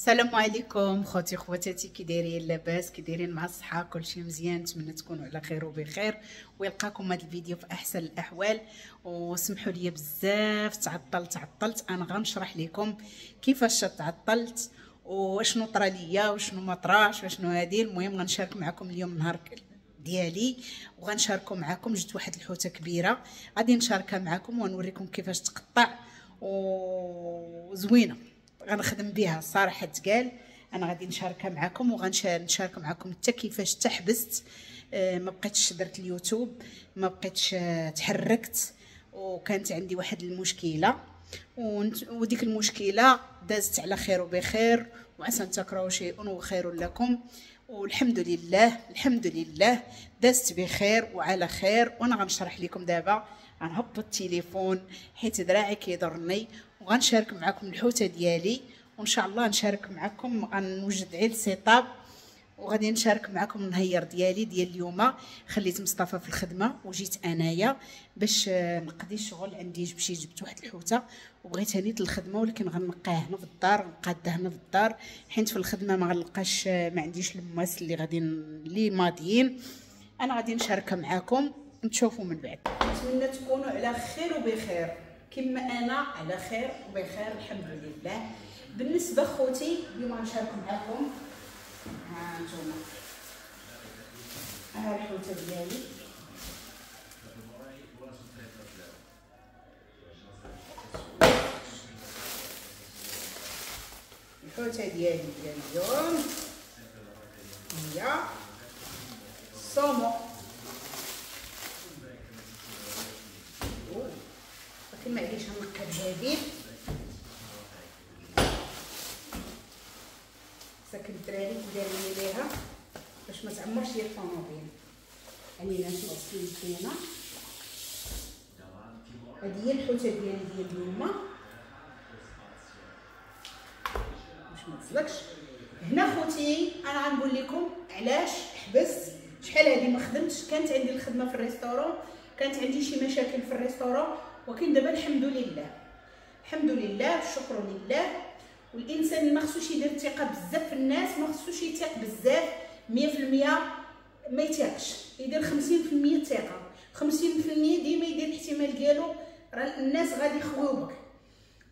السلام عليكم خوتي خواتاتي، كي دايرين؟ لاباس؟ كي دايرين مع الصحة؟ كلشي مزيان؟ نتمنى تكونوا على خير وبخير ويلقاكم هذا الفيديو في احسن الاحوال. وسمحوا لي بزاف تعطلت. انا غنشرح لكم كيفاش تعطلت وشنو طرا ليا وشنو ما طراش وشنو هادي. المهم غنشارك معكم اليوم النهار ديالي وغنشاركو معكم. جبت واحد الحوته كبيرة غادي نشاركها معكم ونوريكم كيفاش تقطع وزوينه غنخدم بها الصراحة تقال. انا غادي نشاركها معكم وغنشارك معكم حتى كيفاش تحبست، ما بقيتش درت اليوتيوب، ما بقيتش تحركت، وكانت عندي واحد المشكلة وديك المشكلة دازت على خير وبخير، وعسى ان تكرهوا شيء وخير لكم. والحمد لله الحمد لله دازت بخير وعلى خير. وانا غنشرح لكم دابا، غنهبط التليفون حيت دراعي كيضرني، وغنشارك معكم الحوته ديالي، وان شاء الله نشارك معكم. غنوجد عيل setup وغادي نشارك معكم النهير ديالي ديال اليوم. خليت مصطفى في الخدمة وجيت انايا باش نقضي الشغل عندي. مشيت جبت واحد الحوته وبغيتها نيت للخدمة، ولكن غنقاها هنا في الدار، نقادها هنا في الدار حيت في الخدمة ما غنلقاش، ما عنديش الماس اللي غادي اللي ماضيين. انا غادي نشاركها معكم نتشوفوا من بعد. نتمنى تكونوا على خير وبخير كما انا على خير وبخير الحمد لله. بالنسبة خوتي اليوم غنشارك معكم، ها انتم ها الحوته ديالي. الحوته ديالي ديال اليوم هي الصومو، ولكن معليش غنقي بجديد. ساكن الدراري داروا لي ليها باش ما تعمرش ليا الطوموبيل. علينا نغسل يدينا. هذه هي الحوته ديالي ديال اليوم باش ما تزلقش. هنا خوتي انا غنقول لكم علاش حبست. شحال هذه ما خدمتش، كانت عندي الخدمة في ال restaurant، كانت عندي شي مشاكل في ال restaurant، ولكن دابا الحمد لله الحمد لله الشكر لله. والانسان ما خصوش يدير الثقة بزاف في الناس، ما خصوش يثق بزاف 100%، ما يثقش، يدير 50% ثقة، 50% ديما يدير الاحتمال ديالو راه الناس غادي يخويو بك.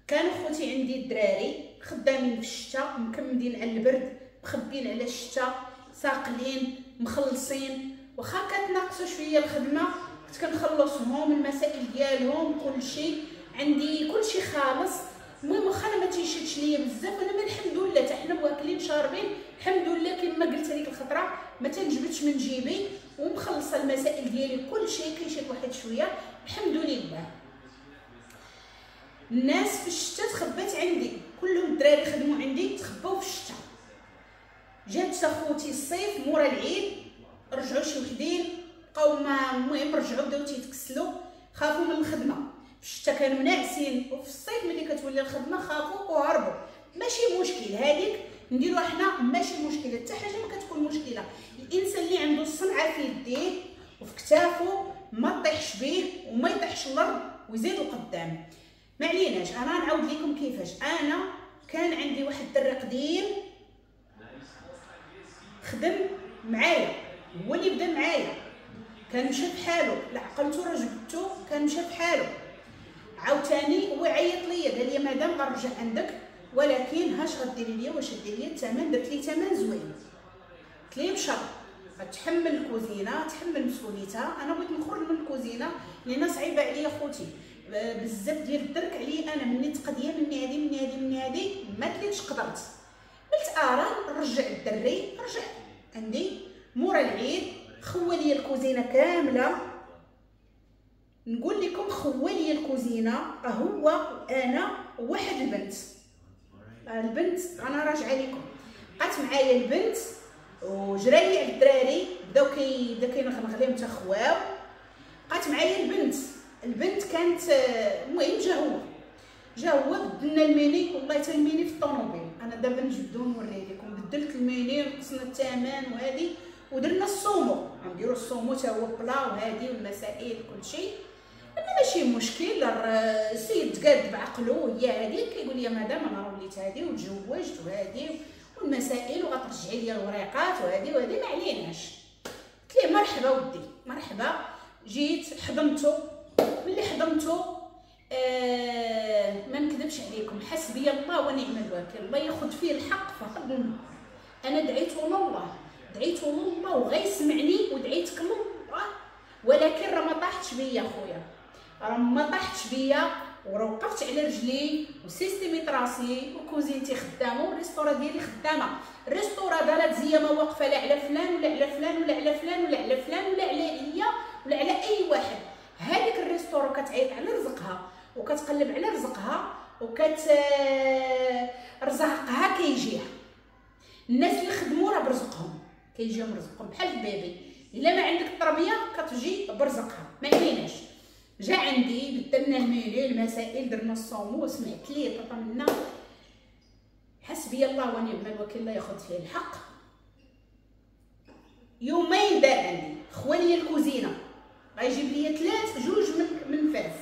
كانوا خوتي عندي الدراري خدامين في الشتاء، مكمدين على البرد، مخبين على الشتاء، ساقلين مخلصين، واخا كتناقصوا شوية الخدمة كنت كنخلصهم المسائل ديالهم كلشي عندي كلشي خالص. المهم واخا انا ما تيشدش ليا بزاف، انا الحمد لله حتى حنا واكلين شاربين الحمد لله. كما قلت هذيك الخطرة ما تنجبدش من جيبي ومخلصه المسائل ديالي كلشي كيشد واحد شوية الحمد لله. الناس في الشتاء تخبات عندي، كلهم الدراري خدموا عندي تخباو في الشتاء. جات خوتي الصيف مورا العيد رجعوا شي وحدين بقاو، المهم رجعوا بداو تيتكسلوا، خافوا من الخدمة. في الشتاء كانوا ناعسين، وفي الصيف ملي كتولي الخدمة خافوا وهربوا. ماشي مشكل هذيك نديروها حنا، ماشي مشكلة، حتى حاجة ما كتكون مشكلة. الانسان اللي عنده الصنعة في يديه وفي كتافه ما طيحش به وما يطيحش الارض ويزيد القدام. ما عليناش، انا نعاود لكم كيفاش. انا كان عندي واحد الدري قديم خدم معايا، هو اللي بدا معايا، كان مشى بحالو، لا عقلتو راه جبتو، كان مشى بحالو. عاوتاني هو عيط ليا قال لي مادام غنرجع عندك، ولكن هاش غديري ليا واش ديري ليا الثمن. درت لي ثمن زوين، قلت ليه بشرط غتحمل الكوزينة، تحمل مسؤوليتها. انا بغيت نخرج من الكوزينة لان صعيبة عليا خوتي بزاف ديال الدرك عليا انا، مني تقضيه مني هادي مني هادي مني هادي، ما تليتش قدرت. قلت ارا نرجع الدري، رجع عندي مورا العيد خوا لي الكوزينة كاملة. نقول لكم خوا لي الكوزينة هو وانا وواحد البنت. البنت انا راجعه لكم، بقات معايا البنت وجرالي على الدراري، بداو بدا كينغنغ لهم حتى خواو. بقات معايا البنت، البنت كانت المهم جا هو بدلنا الميني، والله حتى الميني في الطوموبيل انا دابا نجبدو نوريه لكم. بدلت الميني ونقصنا الثمن وهادي، ودرنا ال saumon، غنديرو ال saumon حتى هو plat وهادي والمسائل كلشي. انا ماشي مشكل، السيد تقاد بعقلو هي هذيك. كيقول لي مدام انا راه وليت هادي وتزوجت وهادي والمسائل وغترجعي لي الوريقات وهادي وهادي، ما عليناش. قلت ليه مرحبا ودي مرحبا. جيت حضنته، ملي حضنته ما نكذبش عليكم، حسبي الله ونعم الوكيل، الله ياخذ فيه الحق في هذا النهار. انا دعيته لله، دعيته لله وغيسمعني، ودعيتك لله، ولكن راه ما طاحتش بيا خويا، راه ما طاحتش بيا، وراه وقفت على رجلي وسيستيميت راسي وكوزينتي خدامه وال restaurant ديالي خدامه. ال restaurant دارت زيا ما واقفة لا على فلان ولا على فلان ولا على فلان ولا على فلان ولا على هي ولا على اي واحد. هذيك ال restaurant كتعيط على رزقها وكتقلب على رزقها وكت رزقها كيجيها. الناس اللي خدموا راه برزقهم، كيجيهم رزقهم بحال ال bébé، الا ما عندك التربية كتجي برزقها. ما عليناش. جا عندي بدلنا الميلي المسائل، درنا ال saumon، سمعت ليه طاطا منا، حسبي الله ونعم الوكيل، الله ياخذ فيه الحق. يومين دار عندي خوالي الكوزينة، غيجيب لي ثلاث جوج من فاس،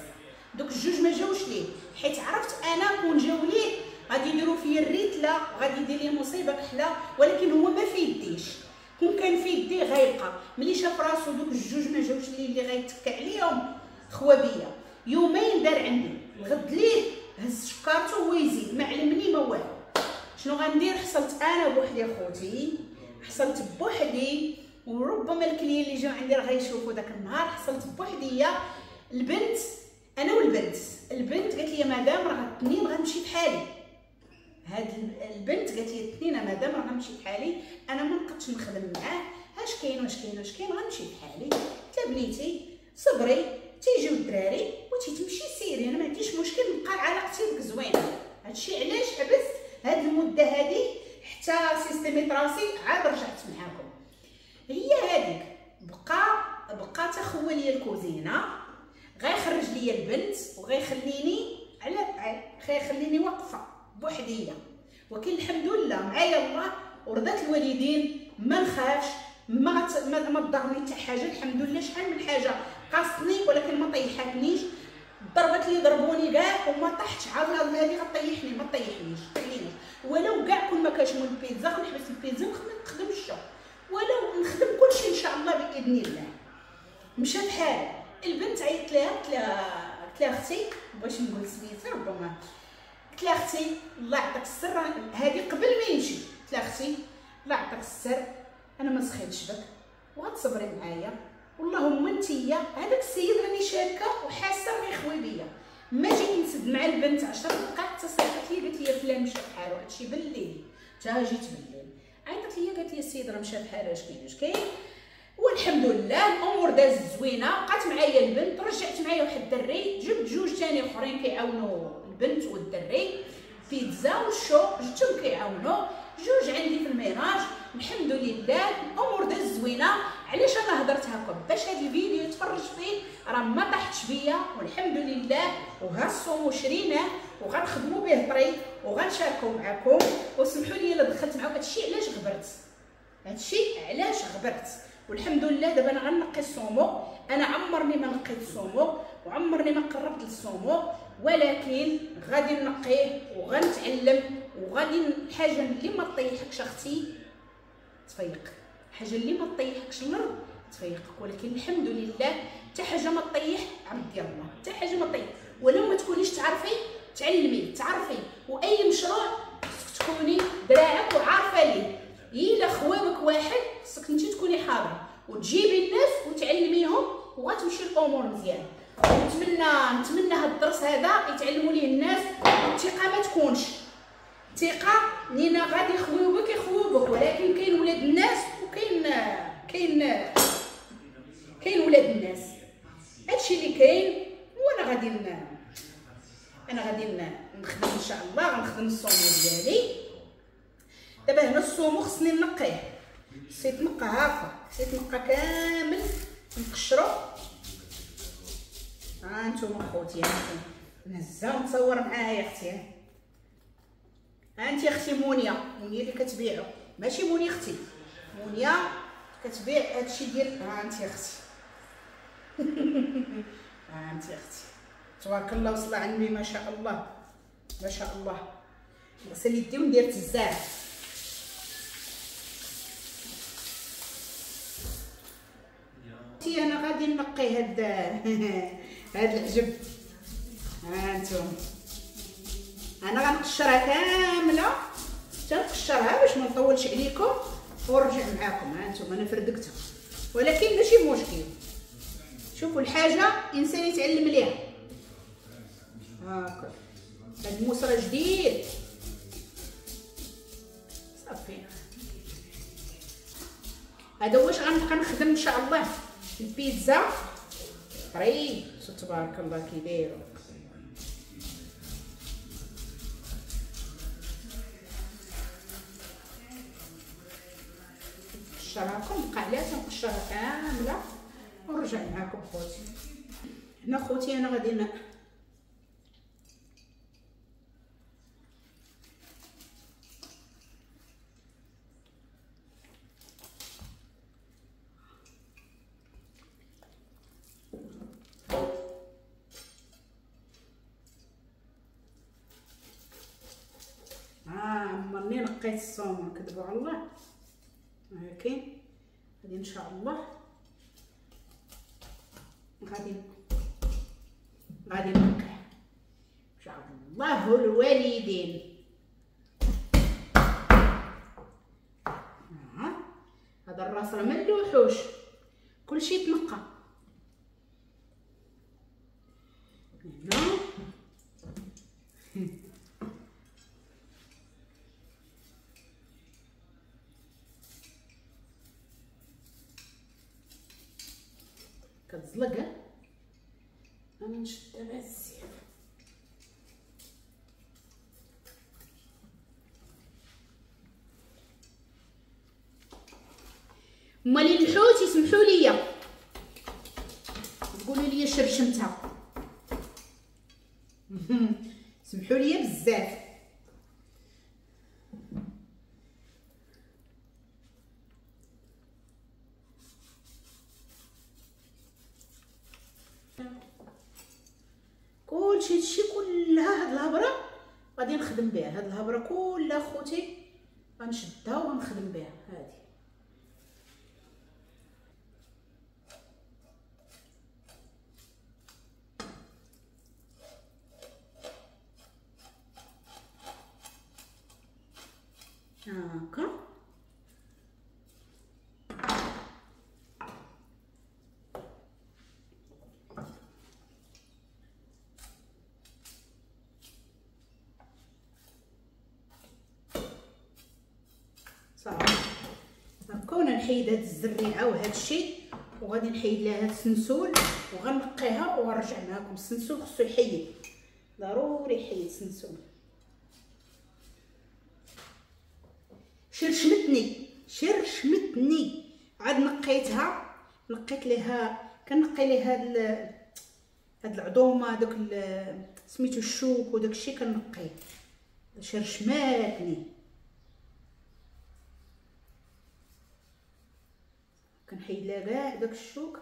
دوك الجوج ما جاوش ليه، حيت عرفت انا كون جاو ليه غادي يديروا فيا الريتله وغادي يدير لي مصيبة كحلة، ولكن هو ما في يديش، كون كان في يديه غيبقى. ملي شاف راسو دوك الجوج ما جاوش ليه اللي غيتكى عليهم خوا بيا. يومين دار عندي، الغد ليه هز شكارته ويزيد، ما علمني ما والو. شنو غندير؟ حصلت انا بوحدي خوتي، حصلت بوحدي، وربما ال clients اللي جاو عندي راه غيشوفوا داك النهار. حصلت بوحدي البنت، انا والبنت. البنت قالت لي مدام راه الاثنين غنمشي بحالي. هاد البنت قالت لي الاثنين مدام راه غنمشي بحالي، انا ما نقدش نخدم معاه، اش كاين واش كاين واش كاين، غنمشي بحالي. قلت بنيتي صبري تيجيو الدراري وتتمشي سيري، انا ما عنديش مشكل، نبقى علاقتي بك زوينة. هادشي علاش حبست هاد المدة هادي حتى سيستيميت راسي عاد رجعت معاكم. هي هاديك بقى تخوى ليا الكوزينة، غيخرج ليا البنت وغيخليني على غيخليني واقفة بوحديه. ولكن الحمد لله معايا الله ورضات الوالدين، ما نخافش، ما تضرني حتى حاجة الحمد لله. شحال من حاجة قاصني ولكن ما طيحتنيش، الضربات اللي ضربوني كاع وما طاحتش، عاد هذه غطيحني، ما طيحنيش خليني. ولو كاع كون ما كاش من البيتزا غنحبس البيتزا ونخدم ال choux، ولو نخدم كلشي ان شاء الله باذن الله. مشى بحال البنت، عيطت لها قلت لها اختي، باش نقول سميتها ربما، قلت لها اختي الله يعطيك السر، هذه قبل ما يمشي، قلت لها اختي الله يعطيك السر، انا ما سخيتش بك وغتصبري معايا، واللهم انتيا هذاك السيد راني شاكه وحاسه غيخوي بيا. ما جيت نسد مع البنت 10 دقائق حتى صيفط لي قالت لي فلان مشى بحالو، هادشي بالليل، حتى جيت بالليل عيطت لي قالت لي السيد راه مشى بحالو، اش كاين اش كاين. والحمد لله الامور دازت زوينة، بقات معايا البنت، رجعت معايا واحد الدري، جبت جوج ثاني اخرين كيعاونوا البنت والدري، بيتزا وال choux جبتهم كيعاونوا، جوج عندي في ال ménage. الحمد لله الامور دازت زوينة. علاش انا هضرت هكا؟ باش هذا الفيديو يتفرج فيه راه ما طاحتش بيا والحمد لله. وها ال saumon شريناه وغنخدموا به طري وغنشاركو معكم. وسمحوا لي الا دخلت معكم، هادشي علاش غبرت، هادشي علاش غبرت. والحمد لله دابا انا غنقي ال saumon، انا عمرني ما نقيت ال saumon وعمرني ما قربت لل saumon، ولكن غادي نقية وغنتعلم. وغادي الحاجة اللي ما تطيحكش اختي تفيق، الحاجة اللي ما تطيحكش الارض تفيقك. ولكن الحمد لله حتى حاجة ما تطيح عبد ديال الله، حتى حاجة ما تطيح. ولو ما تكونيش تعرفي تعلمي تعرفي، واي مشروع خصك تكوني دراعك وعارفه ليه. الا خوابك واحد خصك انت تكوني حاضره وتجيبي الناس وتعلميهم وغتمشي الامور مزيان. نتمنى هاد الدرس هذا يتعلموا ليه الناس. الثقة ما تكونش ثقة نينا غادي يخويوبك يخويوبك، ولكن كاين ولاد الناس وكاين كاين كاين ولاد الناس. هادشي اللي كاين. وانا غادي انا غادي نخدم ان شاء الله، غنخدم ال saumon ديالي. دابا هنا ال saumon خصني نقية، خصني يتنقى هاكا، خصني يتنقى كامل نقشرو. ها نتوما خوتي، نهزها ونتصور معاها يا اختي. ها انت اختي مونيا، مونيا اللي كتبيعو، ماشي مونيا اختي، مونيا كتبيع هادشي ديال. ها انت اختي ها انت اختي. تبارك الله وصل عندي ما شاء الله ما شاء الله. نغسل يدي وندير الزاف. انا غادي نقي هاد هاد العجب. ها انتم انا غنقشرها كاملة حتى نقشرها باش ما نطولش عليكم ونرجع معاكم. ها انتم انا فردقتها ولكن ماشي مشكل. شوفوا الحاجة انسان يتعلم ليها. هاكا هاد الموس راه جديد صافي. هذا واش غنبقى نخدم ان شاء الله البيتزا طري. تبارك الله كي دايرو. نقشرها نبقى عليها تنقشرها كاملة ونرجع معاكم خوتي. هنا خوتي انا غادي عمرني نقيت الصومون كذبوا على الله، ولكن غادي ان شاء الله غادي نقي ان شاء الله الوالدين. هذا الراس راه ما نلوحوش، كلشي تنقى. هنا كتزلق. انا نشدها بهاد السيف. مالي الحوت يسمحوا لي تقولوا لي شرشمتها، سمحوا لي بزاف. كلشي هادشي كلها هاد الهبره غادي نخدم بها. هاد الهبره كلها خوتي غنشدها وغنخدم بها. هادي هاكا صافي. هكا وانا نحيد هاد الزريعه وهاد الشيء، وغادي نحيد لها هاد السنسول وغنقيها ونرجع معاكم. السنسول خصو يحيد، ضروري يحيد السنسول. شرشمتني شرشمتني، عاد نقيتها، نقيت ليها، كنقي ليها هاد العظومه داك سميتو الشوك وداك الشيء كنقيه. شرشماتني، كنحيد لها كاع داك الشوك.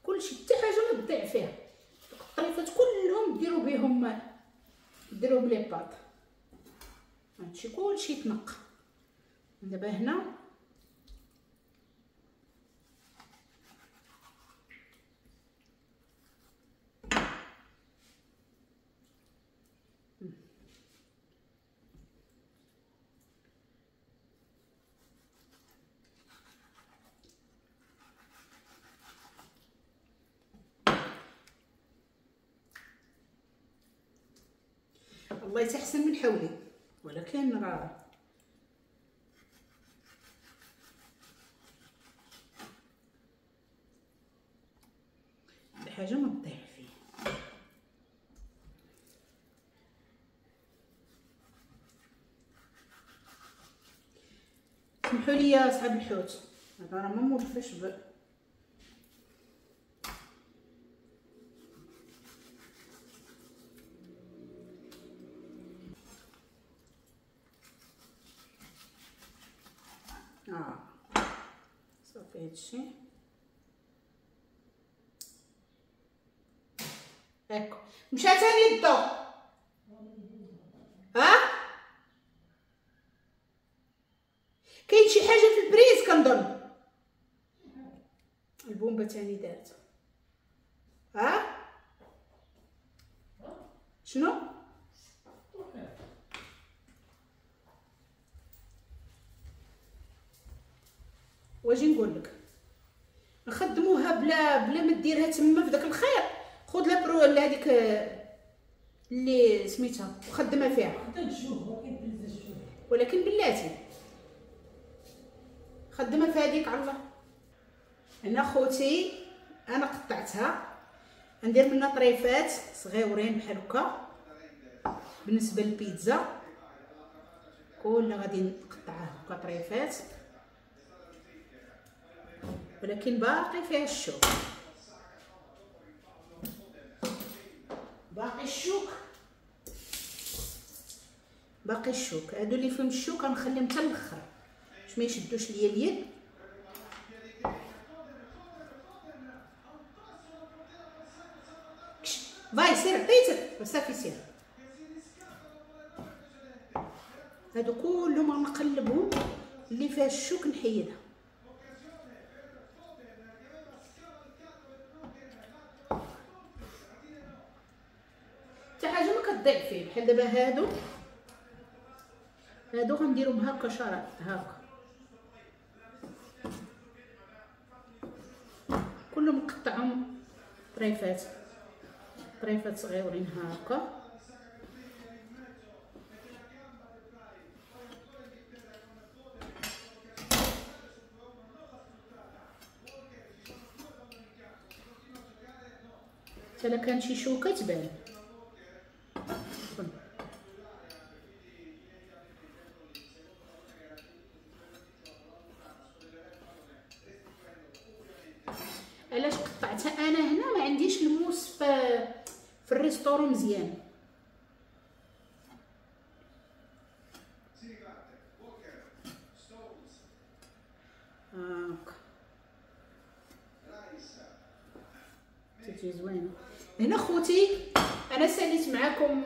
كلشي حتى حاجة ما تضيع فيها. الطريفات كلهم ديروا بهم، ديروا ب les pâtes. هادشي كلشي تنقى. دابا هنا الله يتحسن من حولي، ولكن راه الحاجة ما تضيع فيه. ليا صحاب الحوت، هذا راه ما مولفاش صافي هادشي هاكا. مشى تاني الضو، ها كاين شي حاجة في ال prise كنظن البومبه تاني دارت. ها شنو؟ واجي نقول لك نخدموها بلا ما ديرها تما في داك الخير. خذ la pro هذيك اللي سميتها وخدمها فيها، ولكن بلاتي خدمها في هذيك على الله. هنا خوتي انا قطعتها، ندير منها طريفات صغيورين بحال هكا. بالنسبة للبيتزا كلها غادي نقطعها هكا طريفات، ولكن باقي فيها الشوك، باقي الشوك، باقي الشوك. هادو اللي فيهم الشوك غنخليهم حتى الاخر باش ما يشدوش ليا اليد. باي سير عطيتك وصافي سير. هادو كلهم غنقلبهم، اللي فيها الشوك نحيدها. حتى حاجة ما كتضيع فيه. بحال دابا هادو غنديرهم هكا شرط هكا، كلهم نقطعهم طريفات طريفات صغيورين هكا. حتى لا كان شي شوكه تبان. علاش قطعتها انا هنا؟ ما عنديش الموس في ال restaurant مزيان. هاكا تجي زوينة. هنا خوتي انا ساليت معكم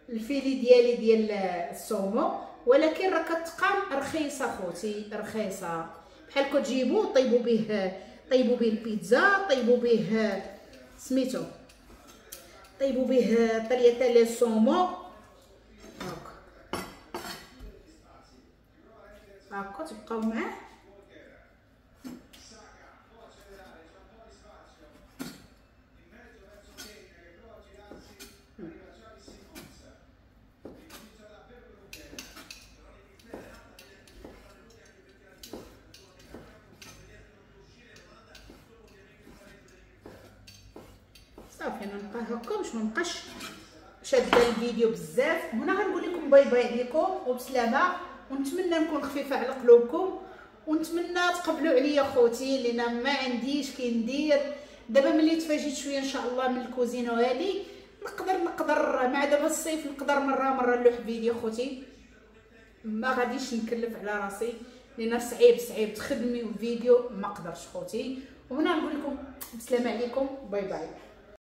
ال filet ديالي ديال ال saumon، ولكن راه كتقام رخيصة خوتي، رخيصة. بحال كتجيبو طيبوا به، طيبوا به البيتزا، طيبوا به سميتو، طيبوا به tagliatelle saumon. هاكا هاكا تبقاو معاه. صافي انا نبقى هكا باش ما نبقاش شاده الفيديو بزاف. هنا غنقول لكم bye bye عليكم وبسلامه، ونتمنى نكون خفيفة على قلوبكم، ونتمنى تقبلوا عليا خوتي لان ما عنديش كي ندير. دابا ملي تفاجيت شوية ان شاء الله من الكوزينة وهادي نقدر مع دابا الصيف نقدر مرة نلوح فيديو خوتي، ما غاديش نكلف على راسي لان صعيب تخدمي فيديو ما قدرش خوتي. وهنا نقول لكم بسلامه عليكم، bye bye.